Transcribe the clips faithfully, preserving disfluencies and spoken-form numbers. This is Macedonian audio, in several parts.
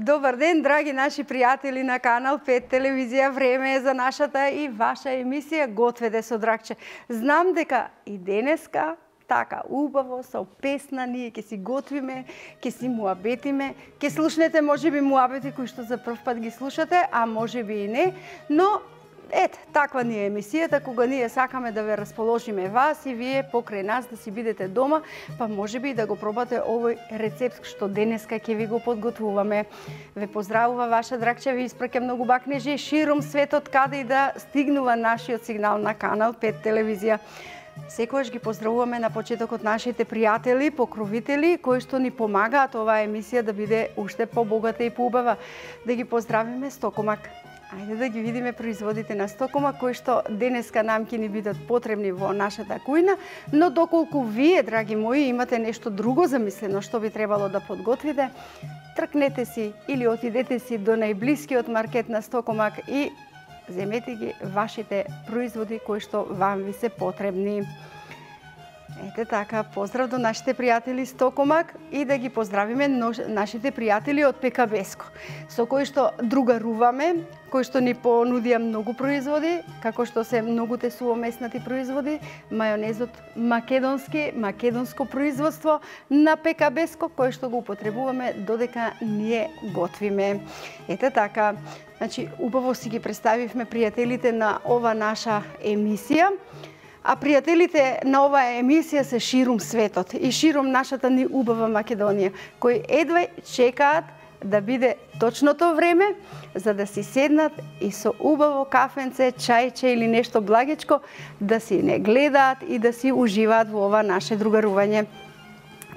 Добар ден, драги наши пријатели на Канал пет телевизија. Време е за нашата и ваша емисија Готведе со Драгче. Знам дека и денеска така убаво со песна ние ќе си готвиме, ќе си муабетиме, ќе слушнете можеби муабети кои што за прв пат ги слушате, а можеби и не, но ете, таква ни е емисијата, кога ние сакаме да ве расположиме вас и вие покрај нас да си бидете дома, па можеби и да го пробате овој рецепт што денеска ќе ви го подготвуваме. Ве поздравува ваша Драгче, ви испраќа многу бакнежи широм светот каде и да стигнува нашиот сигнал на Канал пет телевизија. Секогаш ги поздравуваме на почетокот нашите пријатели, покровители, кои што ни помагаат оваа емисија да биде уште побогата и поубава. Да ги поздравиме Стокомак. Ајде да ги видиме производите на Стокомак, кои што денеска нам ќе ни бидат потребни во нашата кујна, но доколку вие, драги мои, имате нешто друго замислено што би требало да подготвите, тркнете си или отидете си до најблискиот маркет на Стокомак и земете ги вашите производи кои што вам ви се потребни. Ете така, поздрав до нашите пријатели Стокомак и да ги поздравиме нашите пријатели од Пекабеско, со кои што другаруваме, кои што ни понудија многу производи, како што се многуте суомеснати производи, мајонезот македонски, македонско производство на Пекабеско, кој што го употребуваме додека ние готвиме. Ете така, значи, убаво си ги представивме пријателите на ова наша емисија, а пријателите на оваа емисија се ширум светот и ширум нашата ни убава Македонија, кои едва чекаат да биде точното време за да си седнат и со убаво кафенце, чајче или нешто благичко да си не гледаат и да си уживаат во ова наше другарување.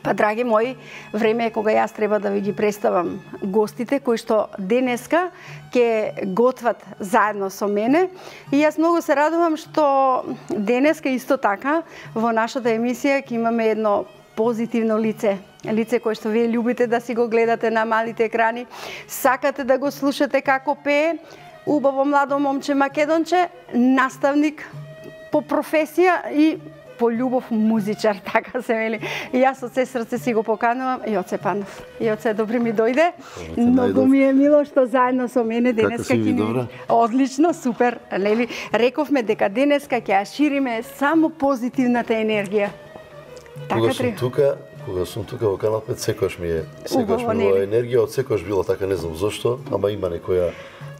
Па, драги мои, време е кога јас треба да ви ги представам гостите кои што денеска ќе готват заедно со мене. И јас многу се радувам што денеска исто така во нашата емисија ќе имаме едно позитивно лице. Лице кое што вие љубите да си го гледате на малите екрани, сакате да го слушате како пее, убаво младо момче македонче, наставник по професија и по љубов музичар, така се вели. И јас од се срце си го поканувам. Јоце Панов. Јоце, добри ми дојде. Многу ми е мило што заедно со мене денеска ќе ни... Одлично, супер. Нели, рековме дека денеска ќе ја шириме само позитивната енергија. Кога сум тука, кога сум тука во Канал пет, секогаш ми е, секогаш ми е енергија, од секогаш било така, не знам зошто, ама има некоја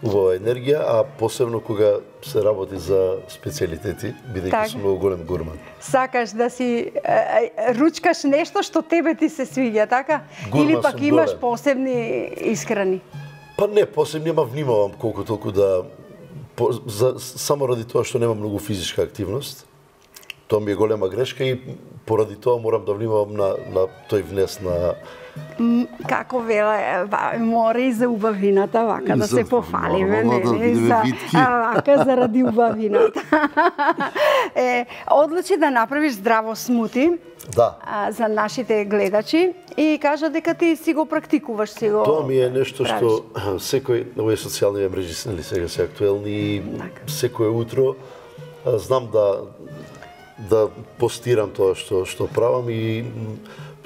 убава енергија, а посебно кога се работи за специјалитети, бидејќи сум многу голем гурман. Сакаш да си е, ручкаш нешто што тебе ти се свиѓа, така? Гурман. Или пак имаш голем посебни исхрани? Па не, посебни, ама внимавам колку толку да... По, за, само ради тоа што немам многу физичка активност. Тоа ми е голема грешка и поради тоа морам да внимавам на, на тој внес на... Како вела, мора и за убавината, вака да се пофалиме, нели? Вака заради убавината. Е, одлучи да направиш здраво смути да. а, за нашите гледачи и кажа дека ти си го практикуваш, си го Тоа ми е нешто правиш. Што секој, овие социјални мрежи нели сега се актуелни и секое утро знам да да постирам тоа што што правам и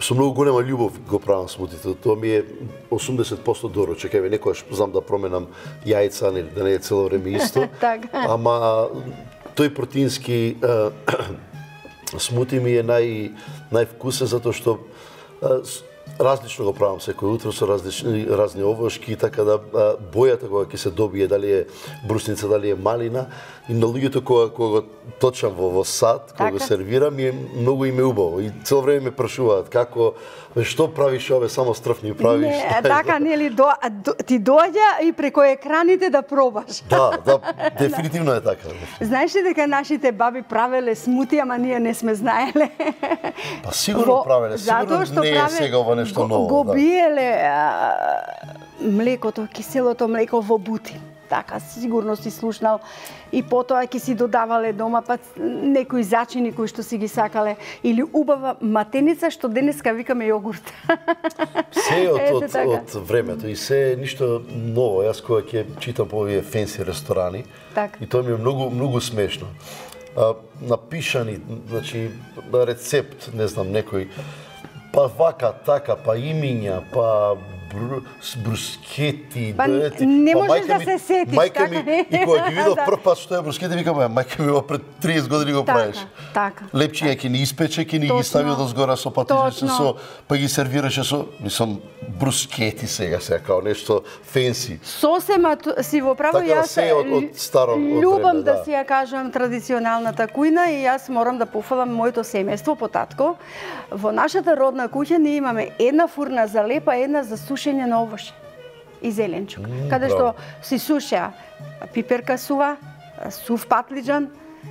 со многу голема љубов го правам смутите. Тоа ми е осумдесет проценти доручек. Еве некогаш знам да променам јајца, нели да не е цело време исто. Ама тој протеински смути ми е нај највкусен затоа што различно го правам секој утро со различни разни овошки, така да бојата кога ќе се добие, дали е брусница, дали е малина, и на луѓето кога кога точам во во сад, кога го сервирам, е многу им е убаво и цело време ме прашуваат како што правиш ове, само стрфни правиш. Не, така нели до, до, ти доаѓа и преку екраните да пробаш. Да, да, дефинитивно е така. Знаеш ли дека нашите баби правеле смути, ама ние не сме знаеле? Па сигурно правеле, сигурно не е сега ова нешто ново. Го биеле а, млекото, киселото млеко во бути. Така, сигурно си слушнал. И потоа ќе си додавале дома па некои зачини кои што си ги сакале. Или убава матеница што денеска викаме јогурт. Се од, од, од времето и се ништо ново. Јас кога ќе читам по овие фенси ресторани, так. И тоа ми е многу, многу смешно. А, напишани, значи, рецепт, не знам, некој па вака, така, па имиња, па брускети. Па не можеш да се сетиш, така ми, и кога ги видов прв пат што е брускети, викам, мајка ми пред триесет години го правиш. Така. Лепчиња ќе ни испече, ќе ни ги стави одозгора со патиџање, со па ги сервираше со, мислам, брускети сега сега као нешто фенси. Сосема си во право, јас од старо љубам да си ја кажам традиционалната кујна и јас морам да пофалам моето семејство по татко. Во нашата родна куќа ние имаме една фурна за лепа, една за сушење на овоше и зеленчук. Mm, каде што си сушеа пиперка сува, сув патлиџан,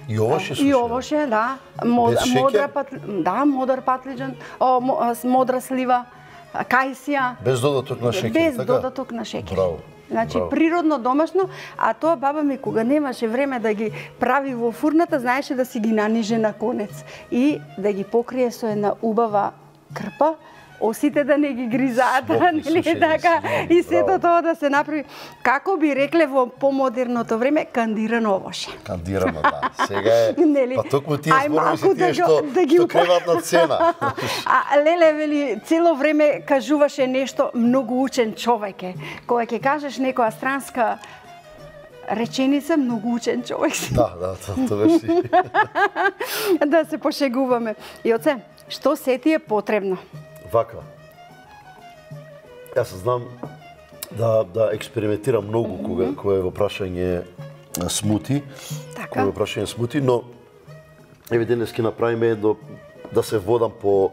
и овоше сушеа. И овоше, да. Мод, модра патли, да, модър патлиџан, о, модра слива, кајсија. Без додаток на шеќер, Без така? додаток на шеќер. Браво. Значи, Браво. Природно, домашно, а тоа баба ми кога немаше време да ги прави во фурната, знаеше да си ги наниже на конец и да ги покрие со една убава крпа, осите да не ги гризаат, нели така, и сето тоа да се направи, како би рекле во помодерното време, кандирано овоше. Кандирано, да. Сега е, нели, па токму тие ај зборови се малку тие да што, ги- да ги што упа- креват на цена. А леле вели цело време кажуваше нешто многу учен човек е. Кога ќе кажеш некоја странска реченица, многу учен човек си. Да, да, тоа тоа беше. Да се пошегуваме. И оце, што се ти е потребно? Вака. Јас знам да да експериментирам многу кога кога е во прашање смути. Така. Кога е во прашање смути, но еве денес ќе направиме до да се водам по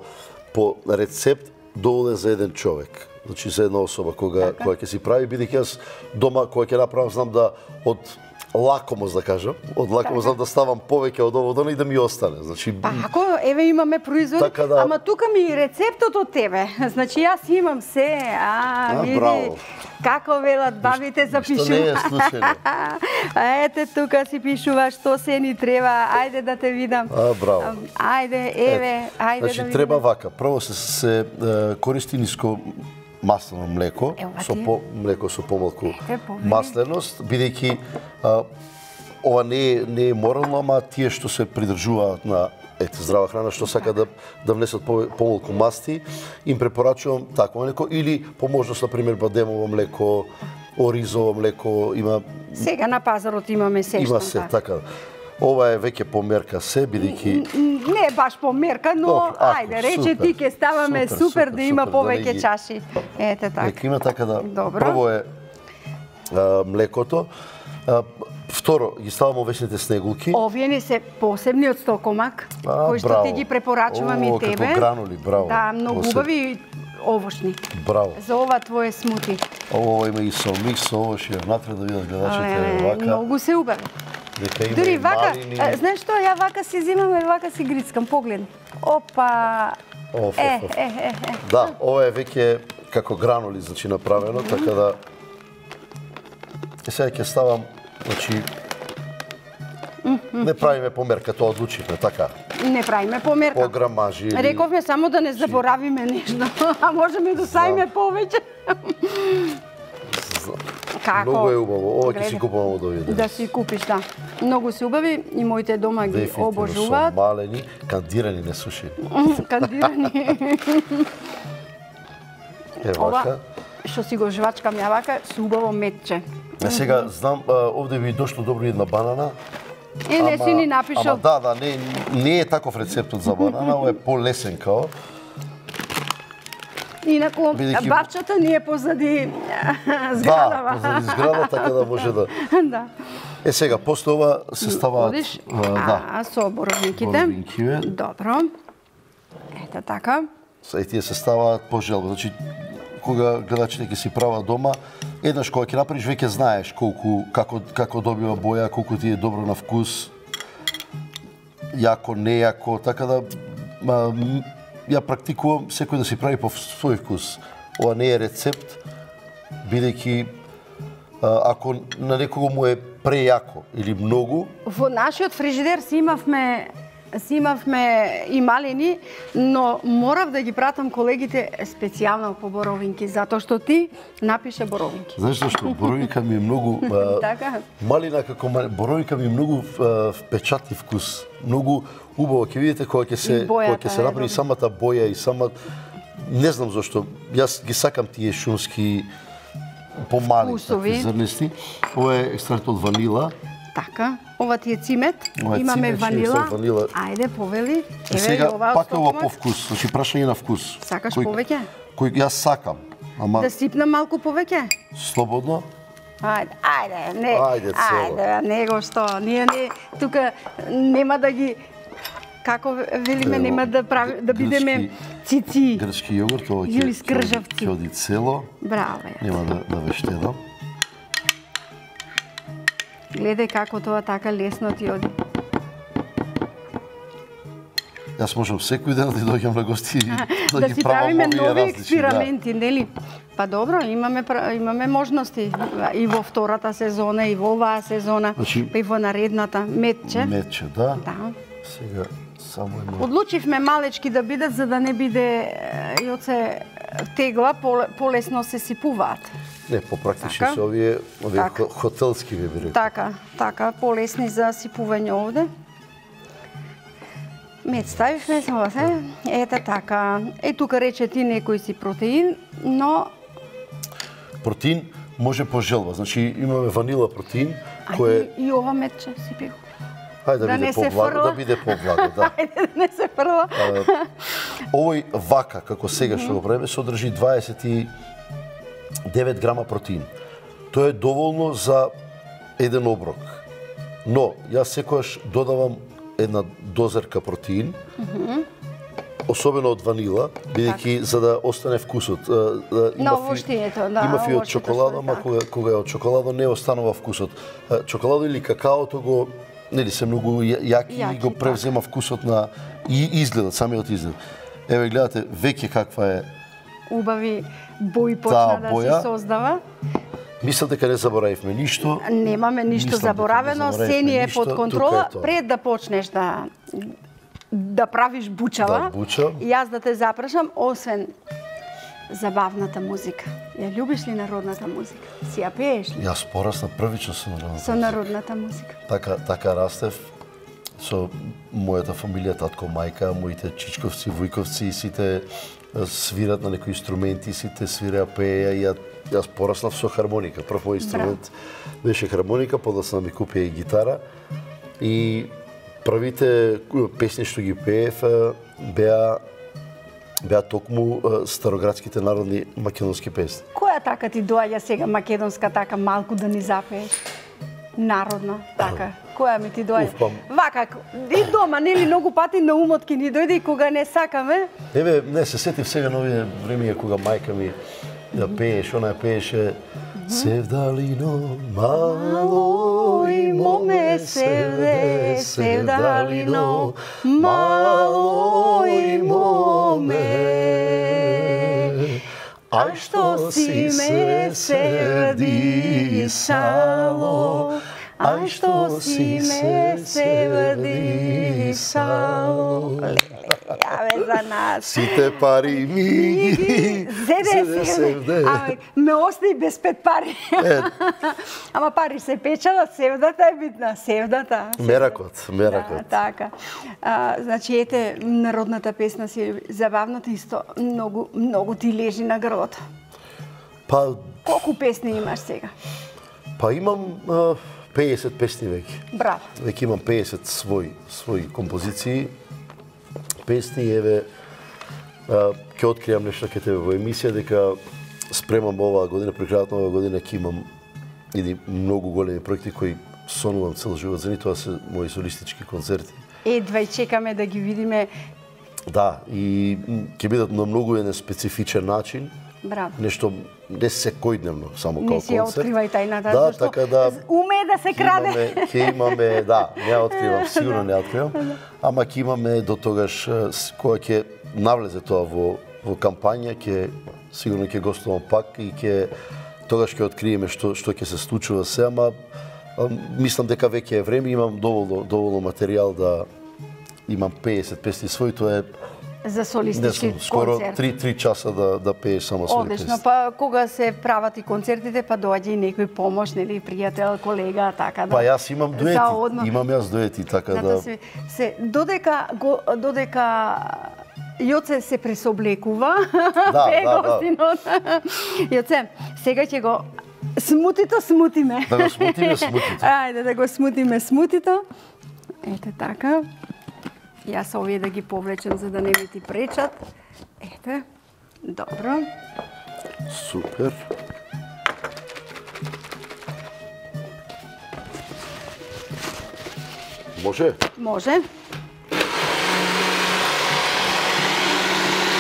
по рецепт доволен за еден човек. Значи за една особа кога Така. кога ќе си прави, бидејќи јас дома кога ќе направам знам да од лакомост да кажам, од лакомост знам да ставам повеќе од ово и да ми остане. Значи Па ако еве имаме производи, Така да- ама тука ми и рецептот од тебе. Значи јас имам се, а, А, види браво. како велат бабите запишува. што не е случајно. Ете тука си пишува што се ни треба. Ајде да те видам. А, браво. Ајде, еве, ајде Значи да видиме. треба вака. Прво се се е, користи ниско маслено млеко, Ева со ти. по млеко со помалку Ете, повели. масленост, бидејќи а, ова не е не е морално, ама тие што се придржуваат на ете здрава храна, што сака да да внесат по, помалку масти, им препорачувам такво млеко или по можност на пример бадемово млеко, оризово млеко, има Сега на пазарот имаме се има што. се да. така. Ова е веќе померка се, бидејќи Не баш по мерка, но Добро, ако, ајде, рече супер, ти ке ставаме супер, супер, супер, да има супер, да повеќе не ги- чаши. Ете така. Нека има така да Добро. прво е а, млекото, а, второ ги ставам овесните снегулки. Овие не се посебни од стокомак, А, кои што браво. ти ги препорачувам О, и тебе. како гранули, браво. Да, многу Посеб- убави и овошни. Браво. За ова твое смути. Ова има и со микс, со овош и внатре да видат гледачите Е, вака. Многу се убави. Дека има Дури и вака, малини. е, знаеш што, ја вака си земам и вака си грицкам, погледни. Опа. Оф, Е, оф, оф. е, е, е. Да, ова е веќе како гранули, значи направено, така да е сега ќе ставам, значи не правиме померка, тоа одлучивме, така. Не правиме померка. По грамажи или... Рековме само да не заборавиме нешто, а можеме да ставиме повеќе. Како? Многу е убаво. Ова ќе Гледај. си купувам од овие денес. Да си купиш, да. Многу се убави и моите дома ги Дефинитивно обожуваат. со малени, кандирани, не сушени. Кандирани. Е, Ова, вака. што си го жвачкам ја вака, се убаво метче. А сега знам, а, овде би дошло добро една банана. Е, не си ни напишал. Ама да, да, не, не е таков рецептот за банана, ова е полесен као. Инаку, Бидејќи- бавчата ни е позади Да, зградава. позади зграда, така да може да... Да. Е, сега, после ова се ставаат... Одиш? а, да, А, со боровинките. боровинкиве. Добро. Ето така. Са, и тие се ставаат по желба. Значи, кога гледачите ќе си прават дома, еднаш кога ќе направиш, веќе знаеш колку, како, како добива боја, колку ти е добро на вкус, јако, нејако, така да ма, м, ја практикувам секој да си прави по свој вкус. Ова не е рецепт, бидејќи а, ако на некого му е прејако или многу, Во нашиот фрижидер си имавме си имавме и малини, но морав да ги пратам колегите специјално по боровинки, затоа што ти напише боровинки. знаеш зашто? Боровинка ми е многу... а, Така? Малина како мали... боровинка ми е многу а, впечатли вкус. Многу убаво ќе видите кога ќе се И бојата кога ќе се е направи добра. самата боја и сама не знам зашто, јас ги сакам тие шумски помали такви зрнести. Ова е екстракт од ванила. Така, ова ти е цимет, ова е имаме цимет, ванила. ванила. Ајде, повели. Еве, сега, пак е ова по вкус, значи прашање на вкус. Сакаш кој, повеќе? Кој јас сакам, ама... Да сипнам малку повеќе? Слободно. Ајде, ајде, не, ајде, ајде, него што, ние не, тука нема да ги, како велиме, нема да прави, да бидеме цици. Грчки јогурт, ова или скржавци. ќе оди цело. Браво, нема да, да ве штедам. Гледај како тоа така лесно ти оди. Јас можам секој ден да дојдам на гости да, да ги си правам правиме овие нови различни, експерименти, да. Нели? Па добро, имаме имаме можности и во втората сезона и во оваа сезона, значи, па и во наредната метче. Метче, да. Да. Сега само има. Одлучивме малечки да бидат за да не биде и се тегла, полесно се сипуваат. Не, попрактични така? се овие, овие така. Хотелски би рекол. Така, така, полесни за сипување овде. Мед ставивме само се, ете така. Е, тука рече ти некој си протеин, но... Протеин може по желба, значи имаме ванила протеин, а кој и, и ова медче сипи го. Хајде да, да биде поблаго, да биде поблаго, да. Хајде да не се фрла. Овој вака, како сега што го правиме, содржи дваесет и девет грама протеин. Тоа е доволно за еден оброк. Но, јас секогаш додавам една дозерка протеин, mm -hmm. особено од ванила, бидејќи за да остане вкусот. На овоштието, да. Има фи од чоколадо, ама кога, кога е од чоколадо не останува вкусот. Чоколадо или какаото го, нели се многу јаки, јаки и го превзема так. Вкусот на и изгледот, самиот изглед. Еве гледате веќе каква е убави бои почна да боја. Се создава. Мислам дека не заборавивме ништо. Немаме ништо заборавено, се ни е под контрола. Пред да почнеш да да правиш бучава, да, буча. И јас да те запрашам, освен забавната музика. Ја љубиш ли народната музика? Си ја пееш ли? Јас порасна првично со народната со народната музика. Така, така растев со мојата фамилија, татко, мајка, моите чичковци, вујковци, сите свират на некои инструменти, сите свиреа, пееја и ја, јас пораснав со хармоника. Прв инструмент Браво. Беше хармоника, подоцна ми купија и гитара. И првите песни што ги пеев беа беа токму староградските народни македонски песни. Која така ти доаѓа сега македонска така малку да ни запееш? Народна, така. Која ми ти доаѓа? Уф, Вака, и дома, нели многу пати на умот ки ни дојде и кога не сакаме? Еве, не се сетив сега на овие времиња кога мајка ми да пееше, она пееше Севдалино, мало и моме севде, Севдалино, мало и моме. Ај што си ме севдисало, ај што си ме севдисало. Абе, за нас. Сите пари ми Зеде севде. Аме, ме остави без пет пари. Ама пари се печелат, севдата е битна, севдата. Меракот, меракот. Да, така. А, значи, ете, народната песна си забавната исто, многу, многу ти лежи на грлото. Па... Колку песни имаш сега? Па имам а, пеесет песни веќе. Браво. Веќе имам пеесет своји, своји композиции. Песни, еве, ќе откријам нешто ке тебе во емисија, дека спремам оваа година, при крајот на оваа година ќе имам иди многу големи проекти кои сонувам цел живот за нив, тоа се мои солистички концерти. Едва и чекаме да ги видиме. Да, и ќе бидат на многу еден специфичен начин. Браво. Нешто не секојдневно, само не како концерт. Не си откривај тајната, да, зашто така да, уме да се краде. Ќе имаме, да, не откривам, сигурно не откривам, ама ќе имаме до тогаш, кога ќе навлезе тоа во, во кампања, ќе сигурно ќе гостувам пак и ќе тогаш ќе откриеме што што ќе се случува се, ама мислам дека веќе е време, имам доволно доволно материјал да имам пеесет песни свој, тоа е за солистички концерт. Скоро три часа да, да пееш само свој песни. Одлично, па кога се прават и концертите, па доаѓа и некој помош, нели, пријател, колега, така да. Па јас имам дуети, имам јас дуети, така да. Се, се додека го, додека Јоце се пресоблекува. Да, да, да. Јоце, сега ќе го смутито смутиме. Да го смутиме смутито. Ајде да го смутиме смутито. Ете така. Јас овие да ги повлечем за да не ми ти пречат. Ете. Добро. Супер. Може? Може.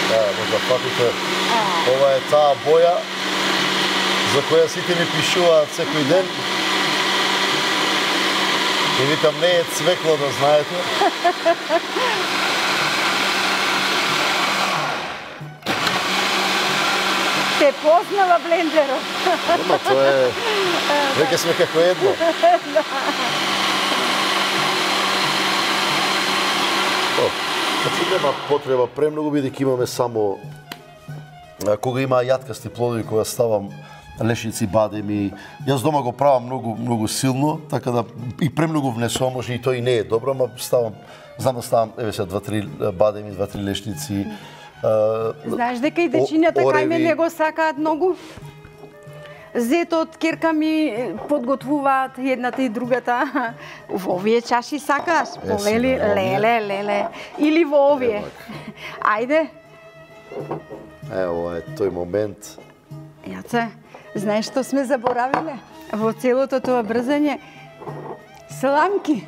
Да, може да фатите. Ова е таа боја за која сите ми пишуваат секој ден. И викам, не е цвекло, да знаете. Те познава блендерот. Ама тоа е... Веќе сме како едно. Значи нема потреба премногу, бидејќи имаме само кога има јаткасти плодови, кога ставам лешници, бадеми, јас дома го правам многу многу силно, така да и премногу внесувам, може и тој не е добро, ама ставам, знам да ставам еве сега два-три бадеми, два-три лешници. Знаеш дека и дечињата кај мене го сакаат многу? Зетот, керка ми подготвуваат едната и другата. Во овие чаши сакаш? Повели, леле, леле. Или во овие. Ајде. Ево е тој момент. Јаце, знаеш што сме заборавиле? Во целото тоа брзање? Сламки.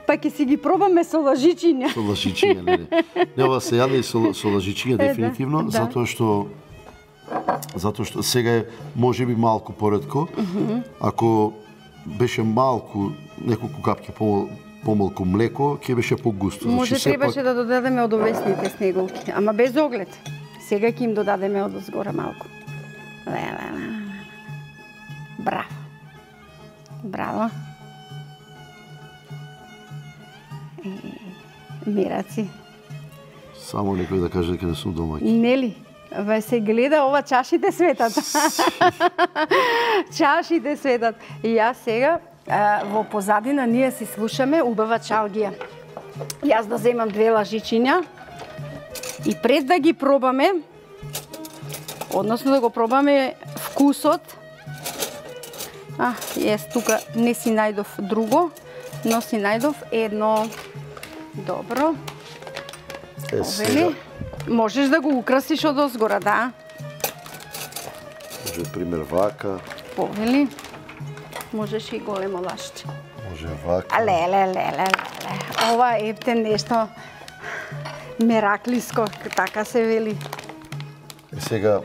Па ќе си ги пробаме со лажичиња. Со лажичиња, не, не. Не, ова се јаде и со, со лажичиња, дефинитивно, да. затоа што затоа што сега е можеби малку поретко. Mm-hmm. Ако беше малку, неколку капки по, помалку млеко, ќе беше погусто. Може значи, требаше сепак... да додадеме од овесните снеголки, ама без оглед. Сега ќе им додадеме од згора малку. Браво. Браво. Мираци. Само некој да каже дека не сум домаќин. Нели? Ве се гледа ова, чашите светат. Чашите светат. И јас сега во позадина ние си слушаме убава чалгија. Јас да земам две лажичиња и пред да ги пробаме, односно да го пробаме вкусот. А, јас тука не си најдов друго, но си најдов едно. Добро. Е, сега. Можеш да го украсиш од озгора, да? Може, пример, вака. Повели. Можеш и големо лашче. Може вака. Леле, леле, леле. Ова епте нешто мераклиско, така се вели. И сега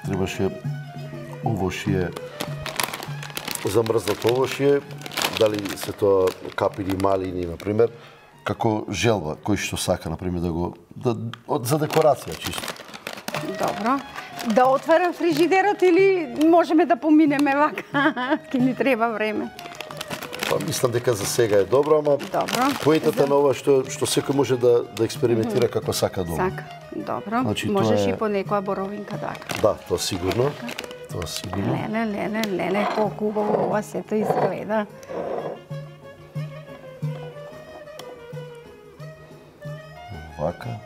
требаше овошје, замрзнато овошје, дали се тоа капини, малини, например, како желба, кој што сака, например, да го... Да, за декорација, чисто. Добро. Да отворам фрижидерот или можеме да поминеме вака? Ке ни треба време. Па, мислам дека за сега е добро, ама Добро. поентата на ова што, што секој може да, да експериментира mm-hmm. како сака дома. Сака. Добро. Значи, Можеш е... и по некоја боровинка дака. Да, тоа сигурно. Тоа сигурно. Леле, леле, леле, колку убаво ова сето изгледа. Вака.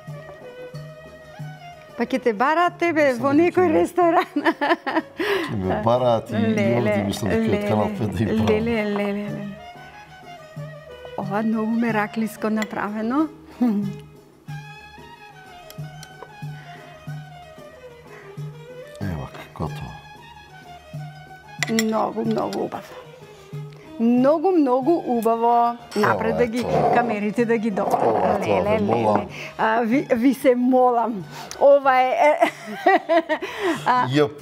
Па ќе те бараат тебе во некој ресторан. Ќе ме бараат и овде мислам дека од Канал пет да им правам. Леле, леле, леле. Ова многу мераклиско направено. Ева, готово. Многу, многу убаво. Многу, многу убаво. Напред да ги камерите да ги добават. Леле, леле. А, ви, ви се молам. Ова е Јп,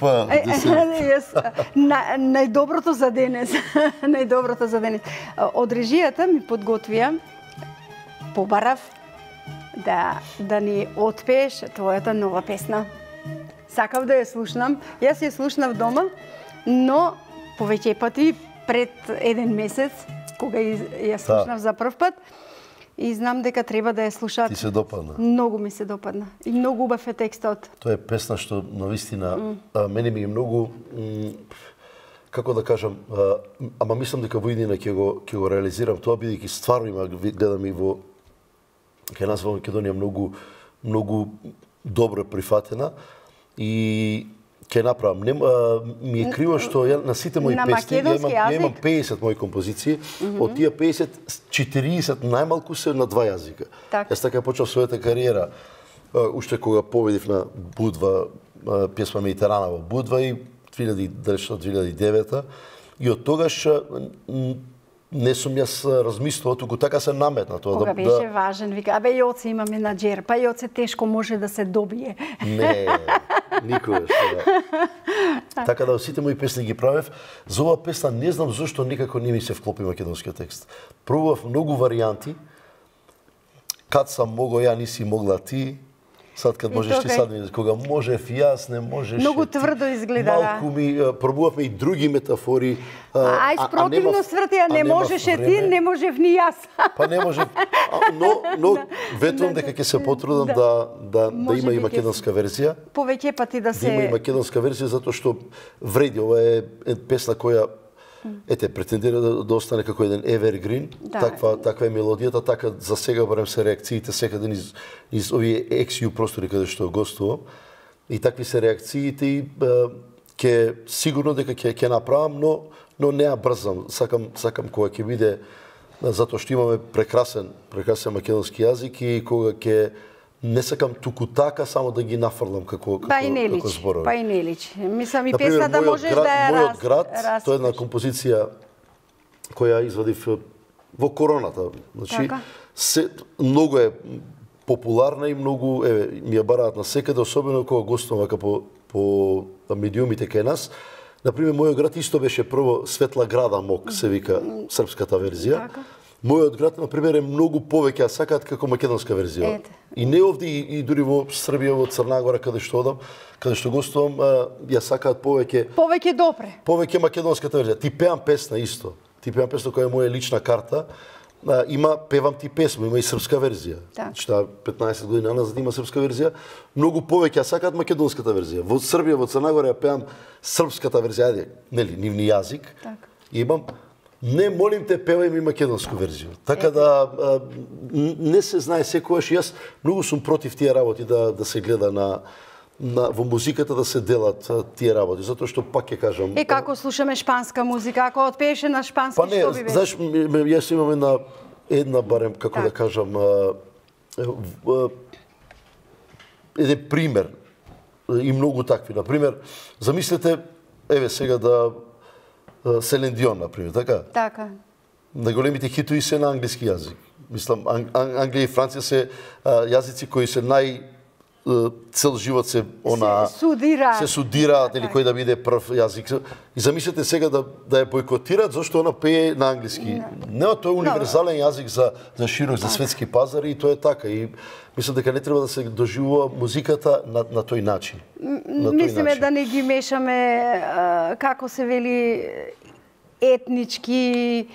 на, најдоброто за денес. Најдоброто за денес. Од режијата ми подготвија, побарав да да ни отпееш твојата нова песна. Сакав да ја слушнам. Јас ја слушнав дома, но повеќе пати пред еден месец, кога ја слушнав за прв пат, и знам дека треба да ја слушаат. Ти се допадна? Многу ми се допадна. И многу убав е текстот. Тоа е песна што навистина mm. мене ми е многу м, како да кажам, а, ама мислам дека во иднина ќе го ќе го реализирам тоа, бидејќи стварно има, гледам и во кај нас во Македонија многу многу добро прифатена и ќе направам. Не, ми е криво што ја на сите мои на песни, ја имам, ја имам јазик? песет мои композиции, mm -hmm. од тие песет, четириесет најмалку се на два јазика. Так. Јас така почнав својата кариера, уште кога победив на Будва, песма Медитерана во Будва и две илјади и девета, и од тогаш не сум јас размислувал, туку така се наметна тоа. Кога да, беше да... важен, вика, абе Јоце има менаџер, па Јоце тешко може да се добие. Не, никогаш. Да. Така да сите мои песни ги правев. За оваа песна не знам зошто никако не ми се вклопи македонскиот текст. Пробував многу варијанти. Кад сам могол ја, не могла ти. Сад кад можеш ти, сад ми, кога можев јас, не можеш. Многу ти. тврдо изгледа, Малку ми пробувавме и други метафори. А, ај спротивно свртија, не можеше ти, не можев ни јас. Па не можев, но но ветувам дека ќе се потрудам да да да има и македонска верзија. Повеќе пати да се Да има и македонска верзија затоа што вреди, ова е песна која ете претендира да, да остане како еден evergreen, да. таква таква е мелодијата, така за сега барем се реакциите секаде низ низ овие екс ю простори каде што гостувам. И такви се реакциите и ќе сигурно дека ќе ќе направам, но но не ја брзам. Сакам сакам кога ќе биде, затоа што имаме прекрасен прекрасен македонски јазик и кога ќе не сакам туку така само да ги нафрлам како како, па и не како личи, зборови. па и не личи. Мислам и Например, песна да можеш град, да ја мојот раз, град, раз, тоа е една композиција која извадив во короната. Значи, така? се, многу е популарна и многу еве ми ја бараат на секаде, особено кога гостувам вака по по медиумите кај нас. Например, мојот град исто беше прво Светла града Мок, се вика српската верзија. Така? Мојот град, например, е многу повеќе сакаат како македонска верзија. Ете. И не овде, и, и дури во Србија, во Црна Гора, каде што одам, каде што гостувам, ја сакаат повеќе повеќе допре. повеќе македонската верзија. Ти пеам песна исто. Ти пеам песна која е моја лична карта. А, има певам ти песма, има и српска верзија. Так. Шта петнаесет години назад има српска верзија. Многу повеќе ја сакаат македонската верзија. Во Србија, во Црна Гора ја пеам српската верзија, ајде, нели, нивни јазик. Так. И имам не молим те певај ми македонску верзија. Така да а, не се знае секогаш, јас многу сум против тие работи да да се гледа на на во музиката да се делат тие работи, затоа што пак ќе кажам. Е како слушаме шпанска музика, ако отпееше на шпански, па не, што би беше? знаеш, јас имам една една барем како так. да кажам а, а, еден пример и многу такви. На пример, замислете еве сега да Селен Дион, например, така? Така. На големите хитови се на англиски јазик. Мислам, Ан Англија и Франција се а, јазици кои се нај цел живот се она се судираат, се судираат или кој да биде прв јазик. И замислете сега да да ја бойкотираат зашто она пее на англиски. Не, тоа е универзален јазик за за широк за светски пазар и тоа е така и мислам дека не треба да се доживува музиката на на тој начин. На тој Мислиме начин. да не ги мешаме а, како се вели етнички.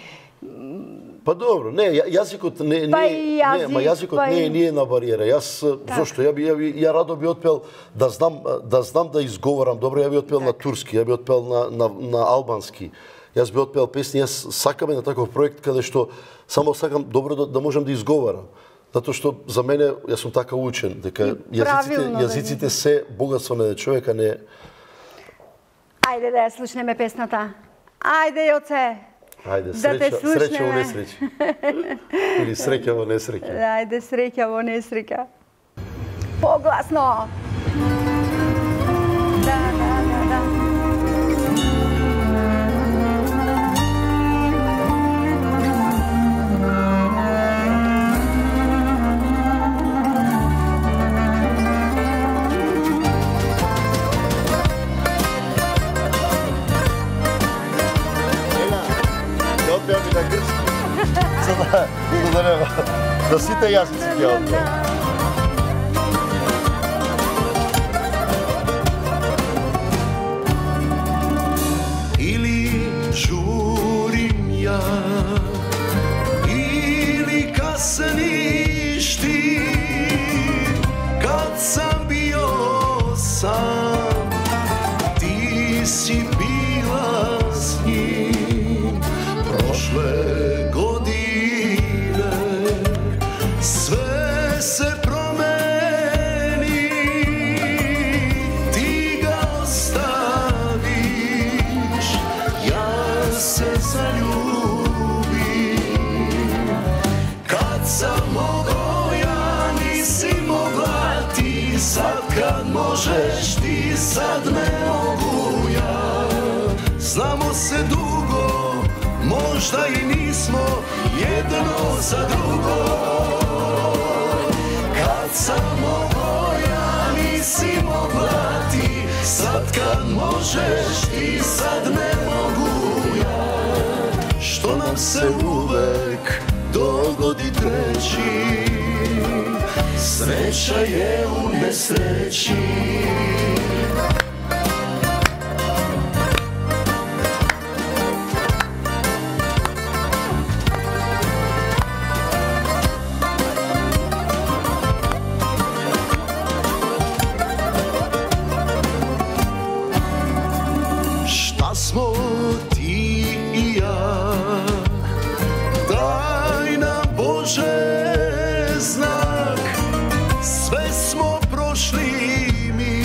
Па добро, не, ја- јазикот не не Па и јазик, не, ма јазикот па не и- е не е на бариера. Јас зошто ја би ја, би- ја радо би отпел да знам да знам да изговорам добро, ја би отпел на турски, ја би отпел на на на албански. Јас би отпел песни, јас сакам на таков проект каде што само сакам добро да, да можам да изговорам. Затоа што за мене јас сум така учен дека јазиците правилно да јазиците се богатство на човека, не. Ајде да ја слушнеме песната. Ајде, Јоце. Ајде, Да те среќа, среќа во слушнеме. несреќа. Или среќа во несреќа. Ајде, среќа во несреќа. Погласно. Да, да, да, да. Ја отпеам и на грчки. За да, за да нема. Да сите јазици ќе отпеам. Или журим ја, или касниш ти, кад сам био сам, ти си била с ним. Прошле године све možeš ti, sad ne mogu ja. Znamo se dugo, možda i nismo jedno za drugo. Kad sam mogao ja, nisi mogla ti. Sad kad možeš ti, sad ne mogu ja. Što nam se uvek dogodi treći, sreća je u nesreći. Šta smo ti i ja, daj nam Bože znak. Sve smo prošli mi,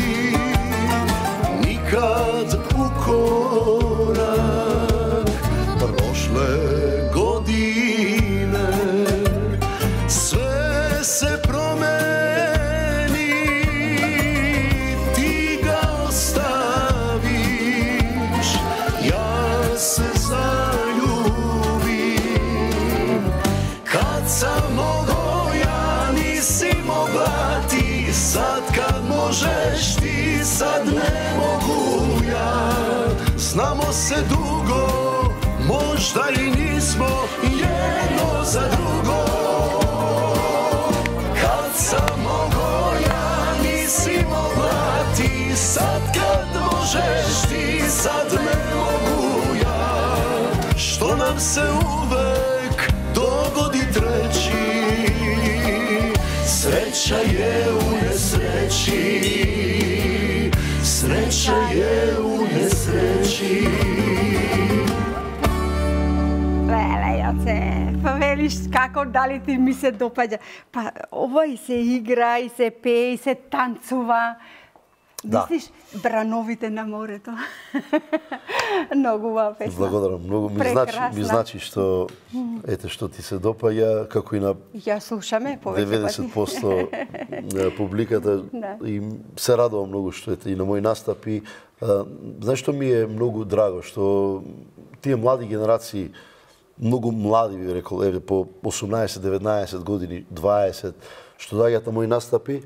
nikad u korak. Prošle godine sve se promeni, ti ga ostaviš, ja se zaljubim. Kad sam mogao ja, nisi mogla ti. Sad kad možeš ti, sad ne mogu ja. Znamo se dugo, možda i nismo jedno za drugo. Kad sam mogao ja, nisi mogla ti. Sad kad možeš ti, sad ne mogu ja. Što nam se uvek dogodi treći, sreća je u nesreći. Sreća je u nesreći. Леле, Јоце, па велиш како дали ти ми се допаѓа. Па ова и се игра, и се пее, и се танцува. Да. Мислиш, брановите на морето. Многу убава песна. Благодарам, многу ми значи, ми значи што ете што ти се допаѓа, како и на Ја слушаме повеќе деветдесет проценти на публиката. Да. И се радувам многу што ете и на мои настапи. Знаеш што ми е многу драго, што тие млади генерации, многу млади би рекол, еве по осумнаесет, деветнаесет години, дваесет, што доаѓаат на мои настапи,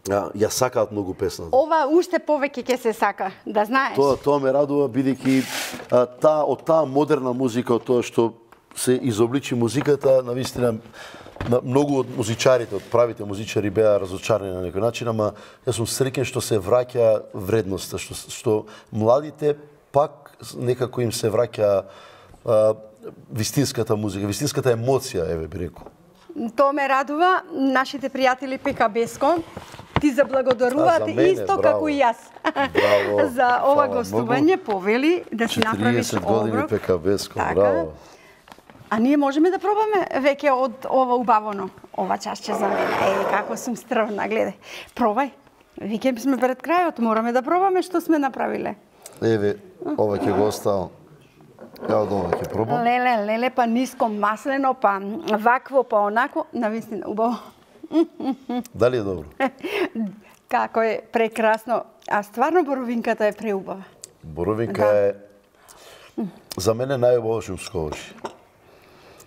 ја сакаат многу песната. Ова уште повеќе ќе се сака, да знаеш. Тоа тоа ме радува бидејќи таа од таа модерна музика, од тоа што се изобличи музиката, навистина на многу од музичарите, од правите музичари беа разочарани на некој начин, ама јас сум среќен што се враќа вредноста, што што младите пак некако им се враќа а, вистинската музика, вистинската емоција, еве би рекол. Тоа ме радува. Нашите пријатели Пекабеско ти заблагодаруваат исто браво. како и јас. Браво. За ова Фала гостување, повели да си направиш четириесет години оброк. Пекабеско, Така. браво. А ние можеме да пробаме веќе од ова убавено. Ова чашче за мене. Е, како сум стрвна, гледај. Пробај. Веќе сме пред крајот, мораме да пробаме што сме направиле. Еве, ова ќе го оставам. Ја од ова ќе пробам. Леле, леле, па ниско маслено, па вакво, па онако, навистина убаво. Дали е добро? Како е прекрасно. А стварно боровинката е преубава. Боровинка Да. е за мене најубаво шумско овошје.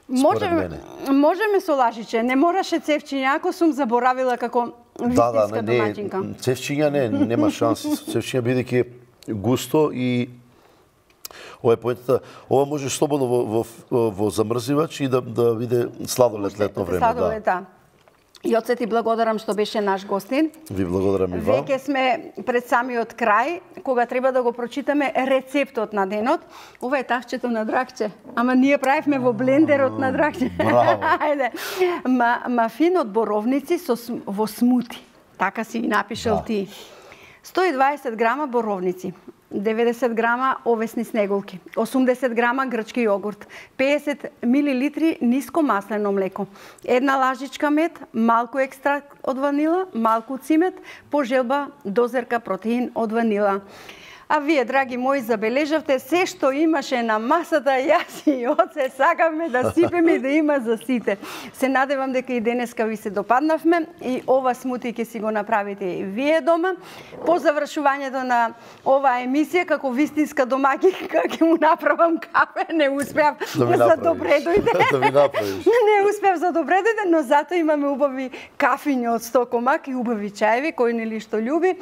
Можеме, мене. можеме со лажиче, не мораше цевчиња, ако сум заборавила како Да, да, вистинска не, домаќинка. не, цевчиња не, нема шанси. Цевчиња бидејќи густо и ова е поентата, ова можеш слободно во, во, во замрзивач и да, да биде сладолед летно време. Сладолед, да. Јоце, ти благодарам што беше наш гостин. Да. Ви благодарам и вам. Веќе сме пред самиот крај, кога треба да го прочитаме рецептот на денот. Ова е тавчето на дракче, ама ние правевме во блендерот на дракче. Браво. Ајде. Ма, мафин од боровници со, см- во смути. Така си ги напишал Да. ти. сто и дваесет грама боровници, деветдесет грама овесни снеголки, осумдесет грама грчки јогурт, педесет милилитри ниско маслено млеко, една лажичка мед, малку екстракт од ванила, малку цимет, по желба дозерка протеин од ванила. А вие, драги мои, забележавте се што имаше на масата, јас и оце сакаме да сипеме и да има за сите. Се надевам дека и денеска ви се допаднавме и ова смути ќе си го направите и вие дома. По завршувањето на оваа емисија, како вистинска домаќинка, ќе му направам кафе, не успеав да за добре дојде. Да ми направиш. Не успеав за добре дојде, но зато имаме убави кафиња од стокомак и убави чаеви, кој нели што љуби.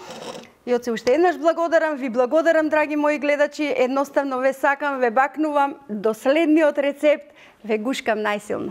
И од се уште еднаш благодарам, ви благодарам, драги мои гледачи, едноставно ве сакам, ве бакнувам, до следниот рецепт, ве гушкам најсилно.